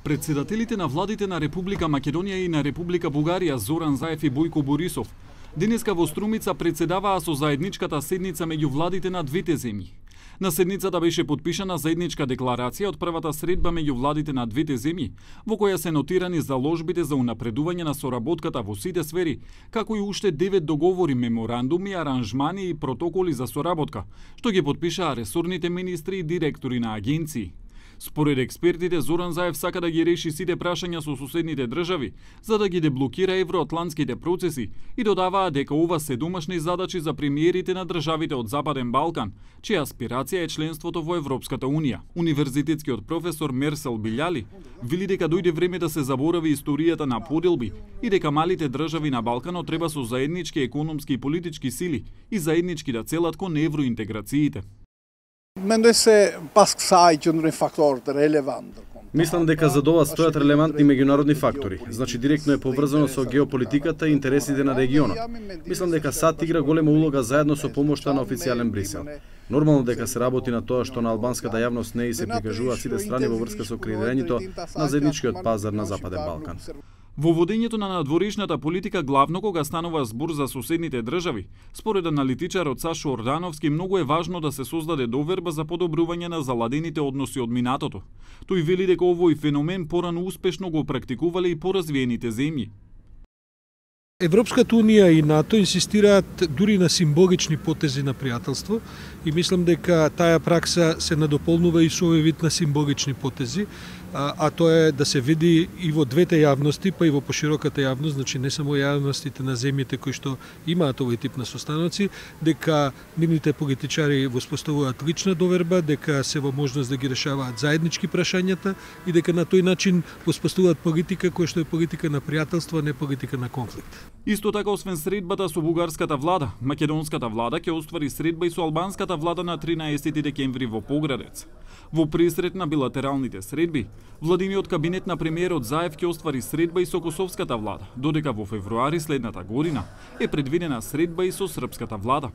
Председателите на владите на Република Македонија и на Република Бугарија Зоран Заев и Бојко Борисов денеска во Струмица председаваа со заедничката седница меѓу владите на двете земји. На седницата беше подпишана заедничка декларација од првата средба меѓу владите на двете земји, во која се нотирани заложбите за унапредување на соработката во сите сфери, како и уште 9 договори, меморандуми, аранжмани и протоколи за соработка, што ги подпишаа ресорните министри и директори на агенции. Според експертите, Зоран Заев сака да ги реши сите прашања со соседните држави, за да ги деблокира евроатлантските процеси и додаваа дека ова се домашни задачи за премиерите на државите од Западен Балкан, чија аспирација е членството во Европската Унија. Универзитетскиот професор Мерсел Билјали вели дека дојде време да се заборави историјата на поделби и дека малите држави на Балканот треба со заеднички економски и политички сили и заеднички да целат кон евроинтеграциите. Мислам дека за ова стојат релевантни меѓународни фактори, значи директно е поврзано со геополитиката и интересите на регионот. Мислам дека САД игра голема улога заедно со помошта на официјален Брисел. Нормално дека се работи на тоа што на албанската јавност не и се прикажуваат сите страни во врска со креирањето на заедничкиот пазар на Западен Балкан. Во водењето на надворешната политика главно кога станува збор за соседните држави, според аналитичарот Сашо Ордановски, многу е важно да се создаде доверба за подобрување на заладените односи од минатото. Тој вели дека овој феномен порано успешно го практикувале и поразвиените земји. Европската Унија и НАТО инсистираат дури на символични потези на пријателство и мислам дека таа пракса се надополнува и со овој вид на символични потези, а тоа е да се види и во двете јавности, па и во пошироката јавност, значи не само јавностите на земјите кои што имаат овој тип на состаноци, дека нивните политичари воспоставуваат лична доверба, дека се во можност да ги решаваат заеднички прашањата и дека на тој начин воспоставуваат политика која што е политика на пријателство, а не политика на конфликт. Исто така, освен средбата со бугарската влада, македонската влада ќе оствари средба и со албанската влада на 13 декември во Поградец. Во пресрет на билатералните средби, владиниот кабинет на премиерот Заев ќе оствари средба и со косовската влада, додека во февруари следната година е предвидена средба и со српската влада.